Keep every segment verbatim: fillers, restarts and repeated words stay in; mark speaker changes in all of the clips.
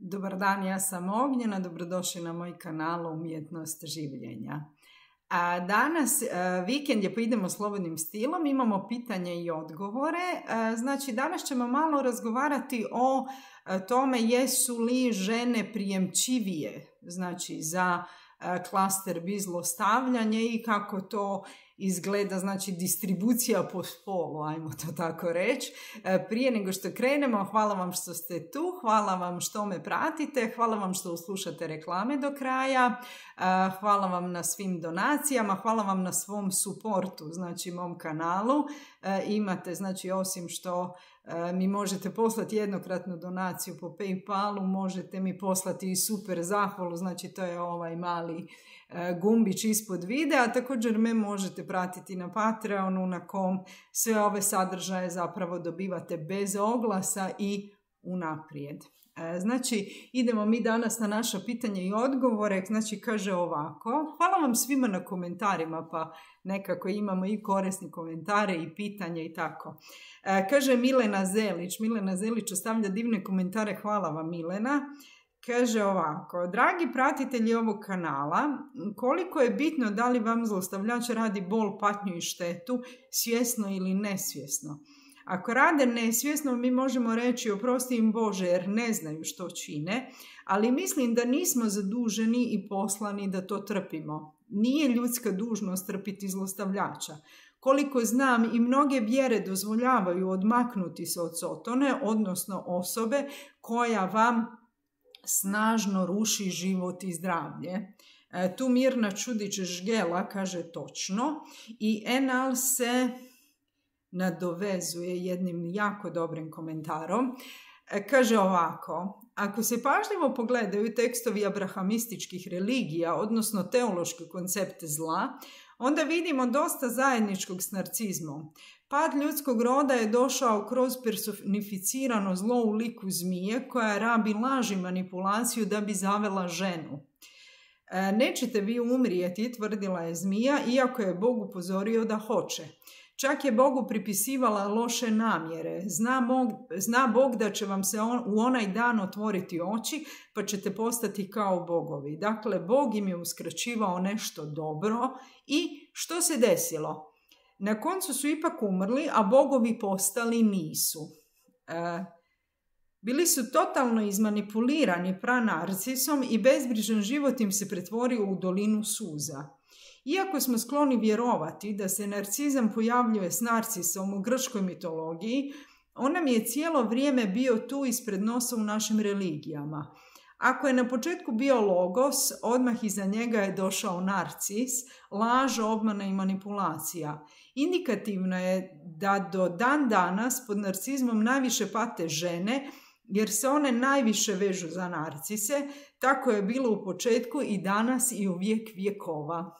Speaker 1: Dobar dan, ja sam Ognjena, dobrodošli na moj kanal Umjetnost življenja. A danas a, vikend je pa idemo slobodnim stilom, imamo pitanje i odgovore. A, znači danas ćemo malo razgovarati o a, tome jesu li žene prijemčivije, znači za a, klaster bi zlostavljanje i kako to izgleda, znači distribucija po spolu, ajmo to tako reći. Prije nego što krenemo, hvala vam što ste tu, hvala vam što me pratite, hvala vam što slušate reklame do kraja, hvala vam na svim donacijama, hvala vam na svom suportu, znači mom kanalu. Imate, znači osim što mi možete poslati jednokratnu donaciju po PayPalu, možete mi poslati i super zahvalu, znači to je ovaj mali gumbić ispod videa, također me možete pratiti na Patreonu na kom sve ove sadržaje zapravo dobivate bez oglasa i unaprijed. Znači idemo mi danas na naša pitanja i odgovore, znači kaže ovako, hvala vam svima na komentarima, pa nekako imamo i korisni komentare i pitanja i tako. Kaže Milena Zelić, Milena Zelić ostavlja divne komentare, hvala vam Milena. Kaže ovako, dragi pratitelji ovog kanala, koliko je bitno da li vam zlostavljač radi bol, patnju i štetu, svjesno ili nesvjesno. Ako rade nesvjesno, mi možemo reći oprosti im Bože jer ne znaju što čine, ali mislim da nismo zaduženi i poslani da to trpimo. Nije ljudska dužnost trpiti zlostavljača. Koliko znam i mnoge vjere dozvoljavaju odmaknuti se od sotone, odnosno osobe koja vam snažno ruši život i zdravlje. E, tu Mirna Čudić-Žgela kaže točno i Enal se nadovezuje jednim jako dobrim komentarom. E, kaže ovako, ako se pažljivo pogledaju tekstovi abrahamističkih religija, odnosno teološki koncept zla, onda vidimo dosta zajedničkog s narcizmom. Pad ljudskog roda je došao kroz personificirano zlo u liku zmije koja rabi laž i manipulaciju da bi zavela ženu. E, nećete vi umrijeti, tvrdila je zmija, iako je Bog upozorio da hoće. Čak je Bogu pripisivala loše namjere. Zna Bog, zna Bog da će vam se on, u onaj dan otvoriti oči, pa ćete postati kao bogovi. Dakle, Bog im je uskraćivao nešto dobro i što se desilo? Na koncu su ipak umrli, a bogovi postali nisu. E, bili su totalno izmanipulirani pranarcisom i bezbrižan život im se pretvorio u dolinu suza. Iako smo skloni vjerovati da se narcizam pojavljuje s narcisom u grčkoj mitologiji, on nam je cijelo vrijeme bio tu ispred nosa u našim religijama. Ako je na početku bio logos, odmah iza njega je došao narcis, laž, obmana i manipulacija. Indikativno je da do dan danas pod narcizmom najviše pate žene, jer se one najviše vežu za narcise, tako je bilo u početku i danas i u vijek vjekova.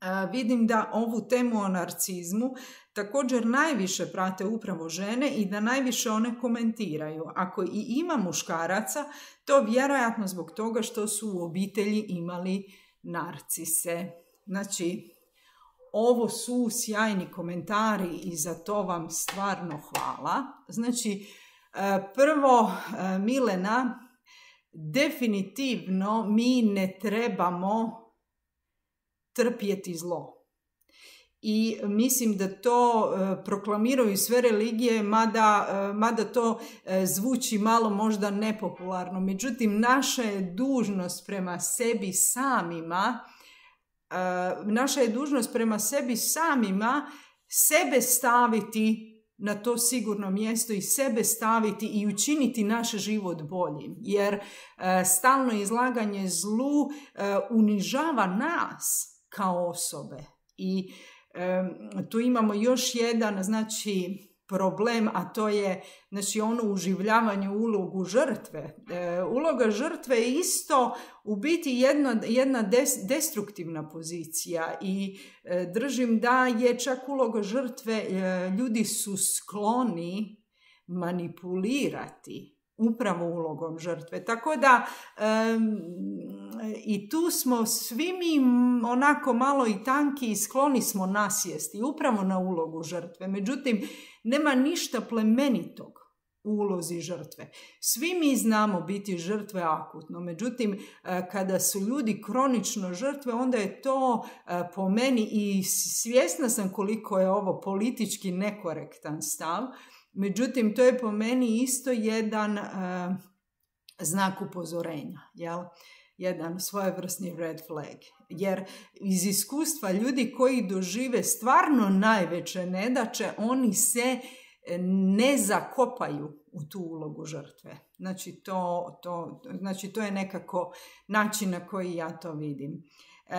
Speaker 1: A, vidim da ovu temu o narcizmu također najviše prate upravo žene i da najviše one komentiraju. Ako i ima muškaraca, to vjerojatno zbog toga što su u obitelji imali narcise. Znači, ovo su sjajni komentari i za to vam stvarno hvala. Znači, prvo, Milena, definitivno mi ne trebamo trpjeti zlo. I mislim da to e, proklamiraju sve religije, mada, e, mada to e, zvuči malo možda nepopularno. Međutim, naša je dužnost prema sebi samima, e, naša je dužnost prema sebi samima sebe staviti na to sigurno mjesto i sebe staviti i učiniti naš život boljim. Jer e, stalno izlaganje zlu e, unižava nas kao osobe. I e, tu imamo još jedan, znači, problem, a to je, znači, ono uživljavanje u ulogu žrtve. E, uloga žrtve je isto u biti jedna, jedna des, destruktivna pozicija i e, držim da je čak uloga žrtve, e, ljudi su skloni manipulirati upravo ulogom žrtve. Tako da um, i tu smo svi mi onako malo i tanki i skloni smo nasjesti upravo na ulogu žrtve. Međutim, nema ništa plemenitog ulozi žrtve. Svi mi znamo biti žrtve akutno, međutim kada su ljudi kronično žrtve, onda je to po meni, i svjesna sam koliko je ovo politički nekorektan stav, međutim to je po meni isto jedan uh, znak upozorenja, jel? Jedan svojevrsni red flag. Jer iz iskustva ljudi koji dožive stvarno najveće nedaće, oni se ne zakopaju u tu ulogu žrtve. Znači to, to, znači to je nekako način na koji ja to vidim. E,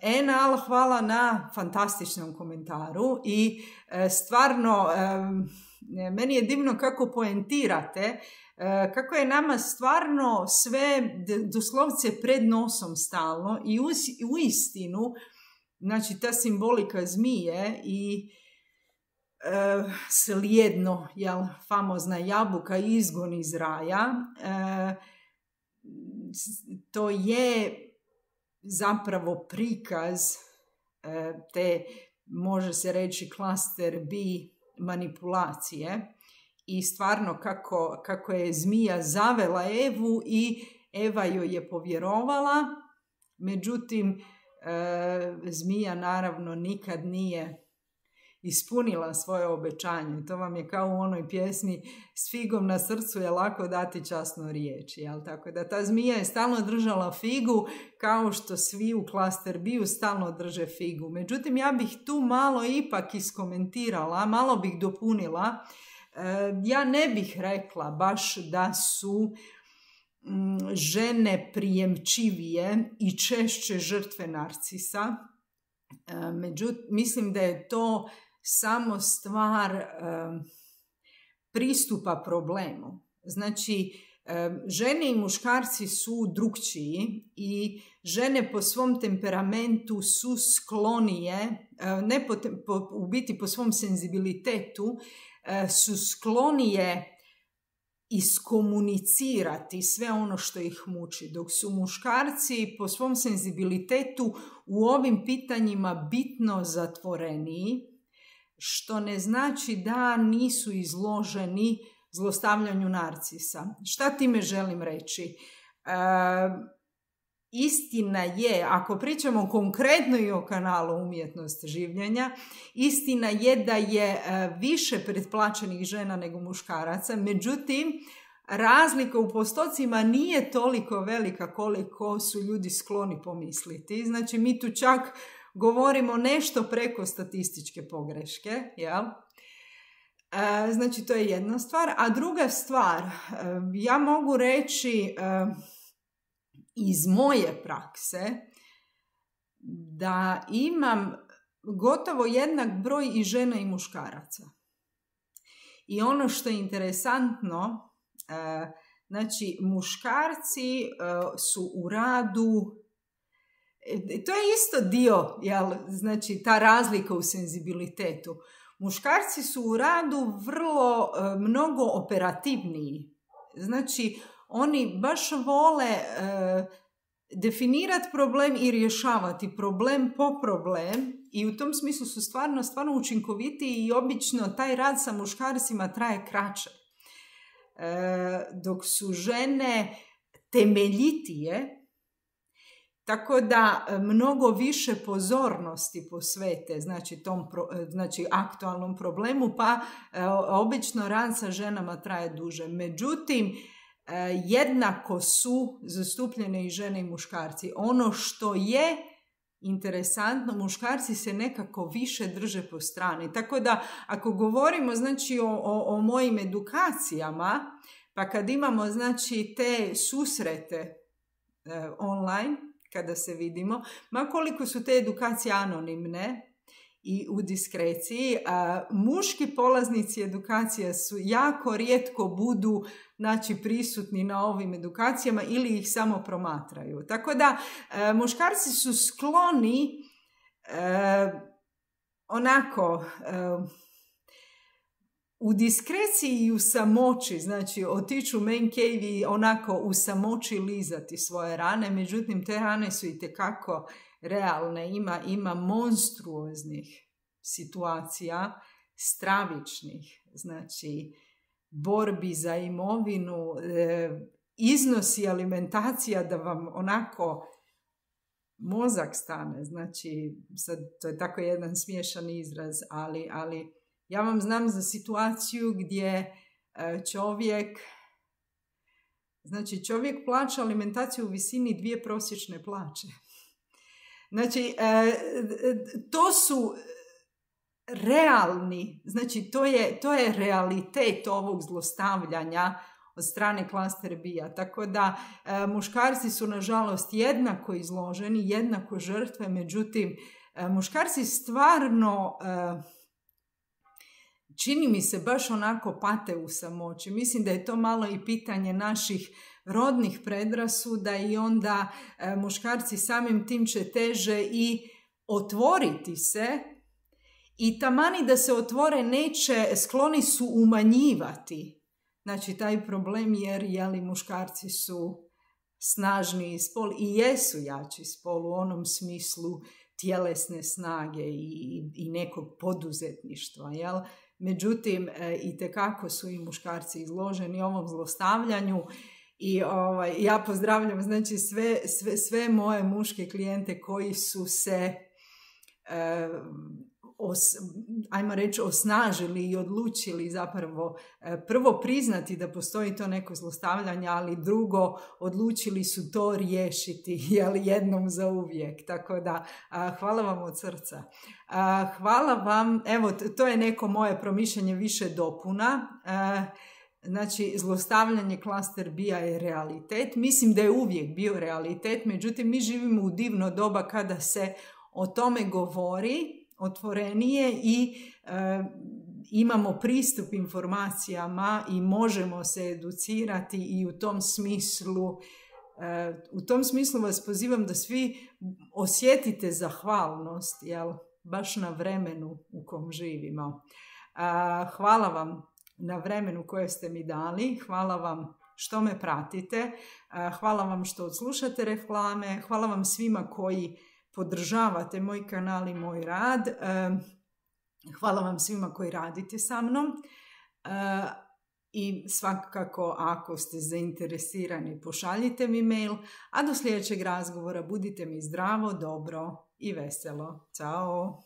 Speaker 1: Enal, hvala na fantastičnom komentaru i e, stvarno e, meni je divno kako poentirate, e, kako je nama stvarno sve doslovce pred nosom stalno i u, u istinu, znači ta simbolika zmije i Uh, slijedno, jel, famozna jabuka, izgon iz raja, uh, to je zapravo prikaz uh, te, može se reći, klaster B manipulacije i stvarno kako, kako je zmija zavela Evu i Eva joj je povjerovala, međutim uh, zmija naravno nikad nije ispunila svoje obećanje. To vam je kao u onoj pjesmi s figom na srcu je lako dati časnu riječ. Jel? Tako da ta zmija je stalno držala figu, kao što svi u klaster B-u stalno drže figu. Međutim, ja bih tu malo ipak iskomentirala, malo bih dopunila. Ja ne bih rekla baš da su žene prijemčivije i češće žrtve narcisa. Međutim, mislim da je to samo stvar um, pristupa problemu. Znači, um, žene i muškarci su drukčiji i žene po svom temperamentu su sklonije, uh, ne po, po, u biti po svom senzibilitetu, uh, su sklonije iskomunicirati sve ono što ih muči, dok su muškarci po svom senzibilitetu u ovim pitanjima bitno zatvoreniji, što ne znači da nisu izloženi zlostavljanju narcisa. Šta time želim reći? E, istina je, ako pričamo konkretno i o kanalu Umjetnost življenja, istina je da je e, više pretplaćenih žena nego muškaraca, međutim, razlika u postocima nije toliko velika koliko su ljudi skloni pomisliti. Znači, mi tu čak govorimo nešto preko statističke pogreške, jel? E, znači, to je jedna stvar. A druga stvar, e, ja mogu reći e, iz moje prakse da imam gotovo jednak broj i žena i muškaraca. I ono što je interesantno, e, znači, muškarci e, su u radu, to je isto dio, jel, znači ta razlika u senzibilitetu. Muškarci su u radu vrlo, e, mnogo operativniji. Znači, oni baš vole e, definirati problem i rješavati problem po problem i u tom smislu su stvarno, stvarno učinkovitiji i obično taj rad sa muškarcima traje kraće. E, dok su žene temeljitije, tako da mnogo više pozornosti posvete, znači, tom pro, znači aktualnom problemu, pa e, obično rad sa ženama traje duže. Međutim, e, jednako su zastupljene i žene i muškarci. Ono što je interesantno, muškarci se nekako više drže po strani. Tako da, ako govorimo, znači, o, o, o mojim edukacijama, pa kad imamo, znači, te susrete e, online, kada se vidimo, ma koliko su te edukacije anonimne i u diskreciji, a muški polaznici edukacija su jako rijetko budu, znači, prisutni na ovim edukacijama ili ih samo promatraju. Tako da e, muškarci su skloni e, onako e, u diskreciji i u samoći, znači otiću u man cave i onako u samoći lizati svoje rane, međutim te rane su itekako realne, ima, ima monstruoznih situacija, stravičnih, znači borbi za imovinu, e, iznosi alimentacija da vam onako mozak stane. Znači, sad, to je tako jedan smiješan izraz, ali, ali ja vam znam za situaciju gdje čovjek, znači čovjek plaća alimentaciju u visini dvije prosječne plaće. Znači, to su realni, znači to je, to je realitet ovog zlostavljanja od strane klaster B-a. Tako da e, muškarci su nažalost jednako izloženi, jednako žrtve, međutim e, muškarci stvarno e, čini mi se baš onako pate u samoći. Mislim da je to malo i pitanje naših rodnih predrasuda i onda e, muškarci samim tim će teže i otvoriti se i tamani da se otvore neće, skloni su umanjivati. Znači, taj problem jer jeli, muškarci su snažniji spol i jesu jači spol u onom smislu tjelesne snage i, i nekog poduzetništva. Jel? Međutim, e, itekako su i muškarci izloženi ovom zlostavljanju i ovaj, ja pozdravljam znači, sve, sve, sve moje muške klijente koji su se e, Os, ajmo reći, osnažili i odlučili zapravo e, prvo priznati da postoji to neko zlostavljanje, ali drugo odlučili su to riješiti jel, jednom za uvijek. Tako da a, hvala vam od srca. A, hvala vam, evo to je neko moje promišljanje više dopuna. A, Znači, zlostavljanje klaster B-a je realitet. Mislim da je uvijek bio realitet, međutim mi živimo u divno doba kada se o tome govori otvorenije i e, imamo pristup informacijama i možemo se educirati i u tom smislu e, u tom smislu vas pozivam da svi osjetite zahvalnost, jel, baš na vremenu u kom živimo. A, hvala vam na vremenu koje ste mi dali, hvala vam što me pratite, a, hvala vam što odslušate reklame, hvala vam svima koji podržavate moj kanal i moj rad. Hvala vam svima koji radite sa mnom i svakako ako ste zainteresirani pošaljite mi mail, a do sljedećeg razgovora budite mi zdravo, dobro i veselo. Ćao!